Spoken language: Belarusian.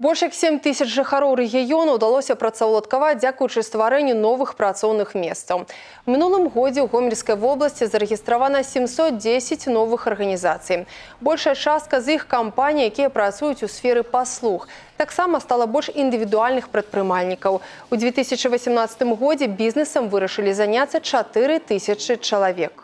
Больш як 7 тысяч жыхароў рэгіёну ўдалося працаўладкаваць дзякуючы стварэнню новых працоўных месцаў. У мінулым годзе ў Гомельскай вобласці зарэгістравана 710 новых арганізацый. Большая частка з іх кампаній, якія працуюць у сферы паслуг. Таксама стала больш індывідуальных прадпрымальнікаў. У 2018 годзе бізнесам вырашылі заняцца 4 тысячы чалавек.